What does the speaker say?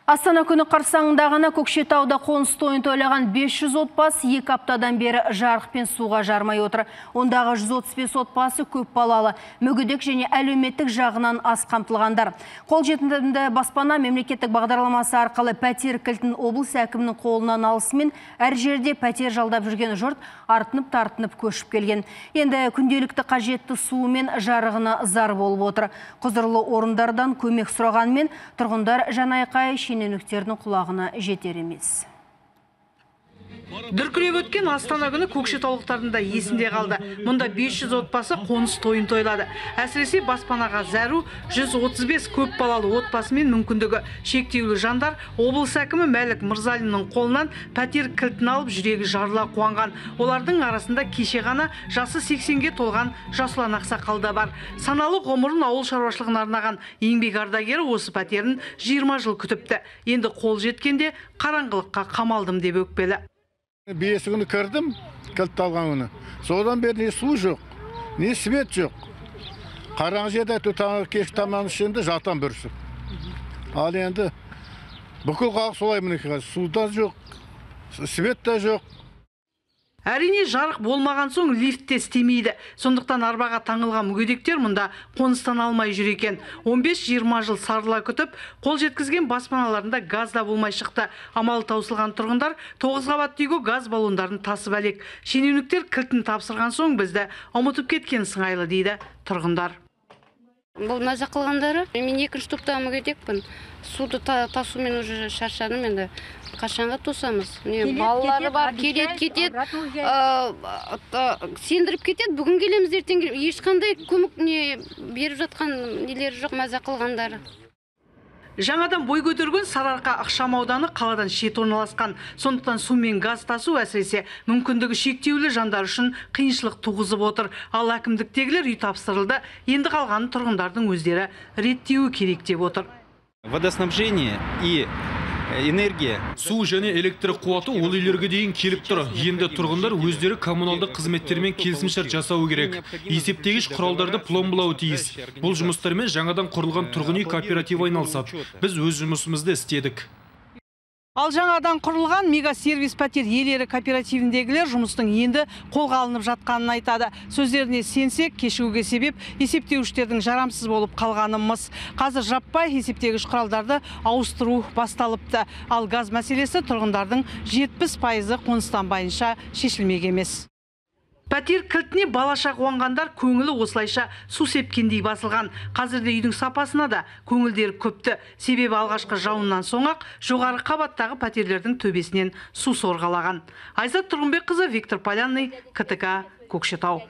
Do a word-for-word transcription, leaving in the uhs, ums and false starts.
Астана күні қарсаңындағына Көкшетауда қоныс тойын тойлаған бес жүз отбасы екі аптадан бері жарық пен суға жармай отыр. Ондағы жүз отыз бес отбасы көп балалы, мүгедек және әлеуметтік жағынан аз қамтылғандар. Қолжетімді баспана мемлекеттік бағдарламасы арқылы пәтер кілтін облыс әкімінің қолынан алысымен әр жерде пәтер жалдап жүрген жұрт артынып-тартынып көшіп келген. Енді күнделікті қажетті суы мен жарығына зар болып отыр. Құзырлы орындардан көмек сұрағанмен тұрғындар жанайқай шенеуніктердің құлағына жетер емес. Дүркіреп өткен Астана күні көкшетаулықтардың да есінде қалды. Мұнда бес жүз отбасы қоныс тойын тойлады. Әсіресе баспанаға зәру жүз отыз бес көп балалы отбасы мен мүмкіндігі шектеулі жандар облыс әкімі Мәлік Мырзалиннің қолынан пәтер кілтін алып жүрегі жарыла қуанған. Олардың арасында кеше ғана жасы сексенге толған Жасұлан Ақсақал да бар. Саналы ғұмырын ауыл шаруашылығына арнаған еңбек ардагері осы пәтерін жиырма жыл күтіпті. Енді қол жеткенде қараңғылыққа қамалдым деп өкпелі. Бесі күні кірдім, кілтті алған күні. Содан бері не су жоқ, не свет жоқ. Қараңғы жерде таңғы кеш таман ішінде жатам бүрсіп. Ал енді бүкіл халық солай мінекей. Суда жоқ, свет та жоқ. Әрине жарық болмаған соң лифт те істемейді. Сондықтан арбаға таңылған мүгедектер мұнда қоныстан алмай жүр екен. он бес жиырма жыл сарыла күтіп, қол жеткізген баспаналарында газ да болмай шықты. Амалы таусылған тұрғындар тоғыз қабатты үйге газ баллондарын тасып әлек. Шенеуніктер кілтін тапсырған соң бізді ұмытып кеткен сыңайлы дейді тұрғындар. Бұл маза қылғандары, мен екінші топтағы мүгедекпін. Суды тасумен уже шаршадым енді. Қашанға тосамыз? Балалары бар, келет, кетет, сендіріп кетет. Бүгін келеміз, ертең ешқандай көмек беріп жатқан нелері жоқ, маза қылғандары. Жаңадан бой көтерген Сарыарқа ықшам ауданы қаладан шет орналасқан. Сондықтан су мен газ тасу әсіресе мүмкіндігі шектеулі жандар үшін қиыншылық туғызып отыр. Ал әкімдіктегілер үй тапсырылды. Енді қалған тұрғындардың өздері реттеуі керек деп отыр. Водоснабжение и энергия. Су және электр қуаты ол үйлерге дейін келіп тұр. Енді тұрғындар өздері коммуналдық қызметтермен келісімшарт жасау керек. Есептегіш құралдарды пломбылауы тиіс. Бұл жұмыстармен жаңадан құрылған тұрғын үй кооперативі айналысады. Біз өз жұмысымызды істедік. Ал жаңадан құрылған мега-сервис пәтер иелері кооперативіндегілер жұмыстың енді қолға алынып жатқанын айтады. Сөздеріне сенсек, кешігуге себеп есептеуіштердің жарамсыз болып қалғанымыз. Қазір жаппай есептегіш құралдарды ауыстыру басталыпты. Ал газ мәселесі тұрғындардың жетпіс пайызы қоныстанбайынша шешілмек емес. Пәтер кілтіне балаша қуанғандар көңілі осылайша су сепкендей басылған. Қазірде үйдің сапасына да көңілдері көпті. Себебі алғашқы жауыннан соң-ақ жоғары қабаттағы пәтерлердің төбесінен су сорғалаған. Айзат Тұрғынбекқызы, Виктор Полянный, КТК, Көкшетау.